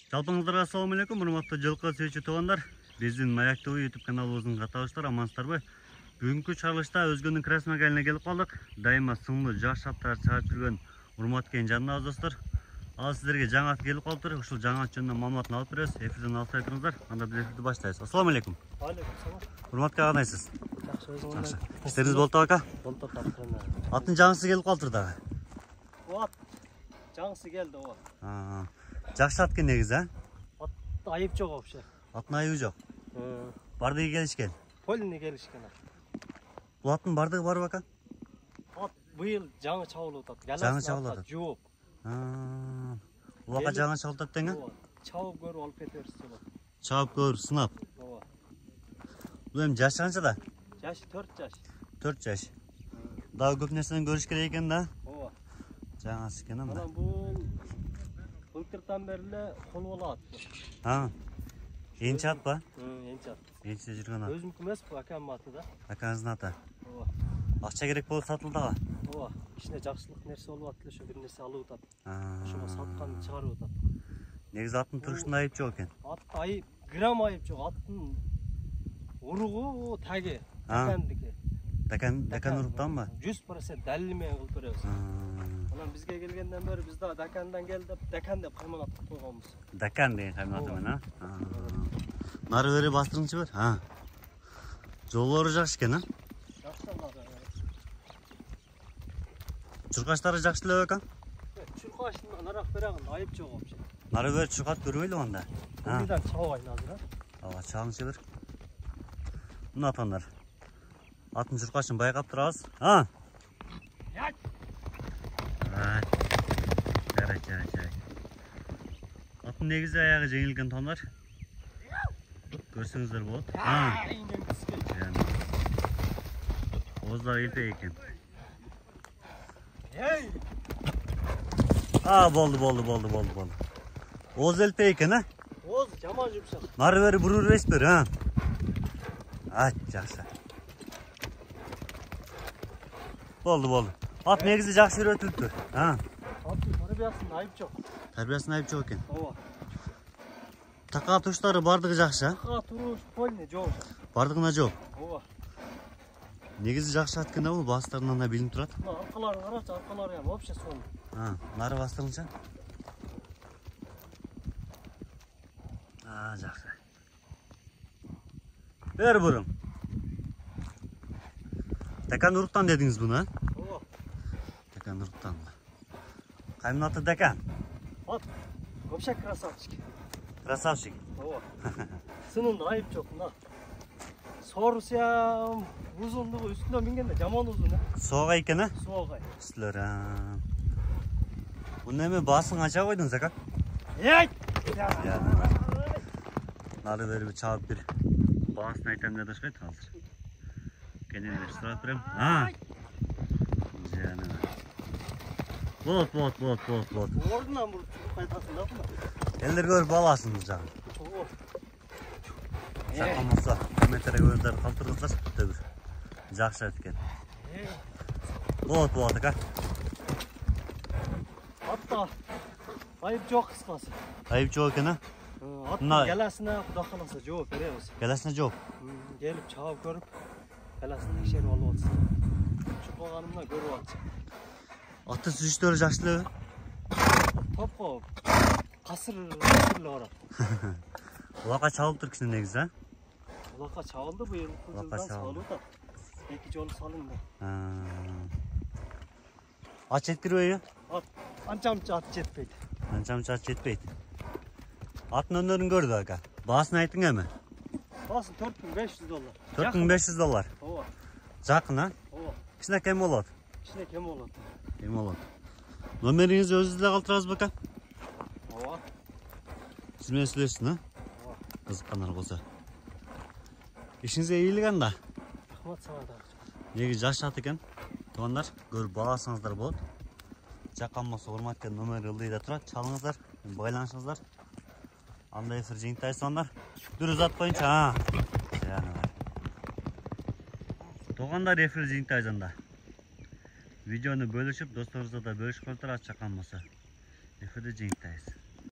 Жалпыңыздарга assalamu алейкум, урматтуу жылкы сүйүүчү туугандар. Биздин Маяк ТV YouTube каналыбыздын каттаашылары, амансыздарбы? Бүгүнкү чыгарылышта Өзгөнүн Красный Магалине келип калдык. Дайыма сыңдуу жаш аттар чыгарып жүргөн урматтуу жаныбыз достор. Ал сиздерге жаңы ат келип калыптыр. Ушул жаңы ат жөнүндө маалыматын алып беребиз. Эфирден алып айтыңыздар. Анда биз эфирди баштайбыз. Assalamu алейкум. Алейкум салам. Урматтуу кандайсыз? Жакшы, өзүңүз кандай? Иштериңиз болду ака? Болду тапкырына. Аттын жаңысы келип калыптыр дагы. Ат жаңысы келди, ооба. Жакшы ат экен негизи, Ат айып жок вообще. Аттын айыбы жок. Бардыгы келишкен. Полный келишкен. Бул аттын бардыгы барбы ака? Ат быйыл жаңы чабылып атат. Жаңы чабылып атат. Жооп. Бул ака жаңы чабылып атат деңи? Чабып көрүп алып кетебиз болот. Чабып көрүп сынап. Ооба. Бул эми жашы канчада? Жашы 4 жаш. 4 жаш. Дагы көп нерседен көрүш керек экен да. Ооба. Жаңасы экен анда. Анан бул былтырдан бери эле колу болот. Энчи ат ба? Энчи ат. Энчиде жүргөн ат. Өзүмдүкү эмес, бул акамдын аты да. Акаңыздын аты. Ооба. Акча керек болуп сатылды ага. Ооба. Кичине жакшылык нерсе болуп атты, ошо бир нерсе алып атат. Ошого саткан чыгарып атат. Негизи аттын турушунда айып жок экен. Ат айып, грамм айып жок. Аттын уругу таги, дакандыки. Дакан уруктанбы? 100% далил менен кылып беребиз. Анан бизге келгенден бери биз да Дакандан кел деп, Дакан деп кайман аттап койгонбуз. Дакан деген кайман аты менен, Нары бери бастырыңчы бер. Жолдору жакшы экен, Жакшы аны. Чуркаштары жакшы эле ака? Чуркаштын нарак берагында айып жок вообще. Нары бери чуркат көрбөйлү анда. Мындан чабайын азыр, Ага, чалыңчы бер. Мына атандар. Атын чуркашын байкап турабыз. Жарай. Аттын негизи аягы жеңилген тондар. Көрсөңүздөр болот. Ооздары элпек экен. Болду. Ооз элпек экен, Ооз жаман жумшак. Нары бери бурур бересиздер, жакшы. Болду. Ат негизи жакшы үйрөтүлүптүр. Аттын тарбиясында айып жок. Тарбиясында айып жок экен. Ооба. Така туштары бардыгы жакшы, Така туруш полный жок. Бардыгына жок. Ооба. Негизи жакшы ат экен да бул, бастарынан да билинип турат. Аркаларын карачы, аркалары эми вообще сонун. Нары бастырыңчы. Жакшы. Бер бурун. Дакан уруктан дедиңиз буну, Ооба. Дакан уруктан. Каймын аты Дакан? Ат вообще красавчик. Красавчик. Ооба. Сынында айып жок, мына. Сорусям узундугу үстүнө мингенде жаман узун, Соогай экен, Соогай. Үстүлөр. Муну эми баасын канча койдуңуз ака? Нары бери чабып бир баасын айтам деп атышпайт азыр. Кенен эле сурап берем. Болот. Ордунан буруп чуруп кайтасың да мына. Элдер көрүп аласыңыз жагы. Сакамаса комментарий көздөрдү калтырыңыздар. Өтө бир жакшы ат экен. Болот ака. Атта айып жок кыскасы. Айып жок экен, Аттын галасына Кудай кааласа жооп беребиз. Галасына жооп. Келип чабып көрүп, галасын текшерип алып атсın. Чукпаганымда көрүп атчы. Аттын сүзүштөрү жакшы элеби? Топко касыр эле барат. Улакка чабылыптыр кичине негизи, Улакка чабылды быйыл жылдан салып атат. 2 жолу салынды. Ат жеткирбейби? Анчамча ат жетпейт. Аттын өнөрүн көрдү ака. Баасын айтың эми. Баасын $4500. $4500. Ооба. Жакын, Ооба. Кичине кем болот. Кем болот. Номериңизди өзүбүздө калтырабызбы ака? Ооба. Сиз менен сүйлөшсүн, Ооба. Кызыккандар болсо. Ишиңизге ийгилик анда. Рахмат сага да. Негизи жаш ат экен. Туугандар, көрүп аласыңыздар болот. Жаккан болсо урматтуу номери ылдыйда турат. Чалыңыздар, байланышыңыздар. Анда эфир жыйынтайсыңдар. Дүр узатпайынча. Туугандар, эфир жыйынтайсыңдар. Видеону бөлүшүп, досторубузга да бөлүшүп коюңуздар, ачакан болсо. Эфирде жыйынтайбыз.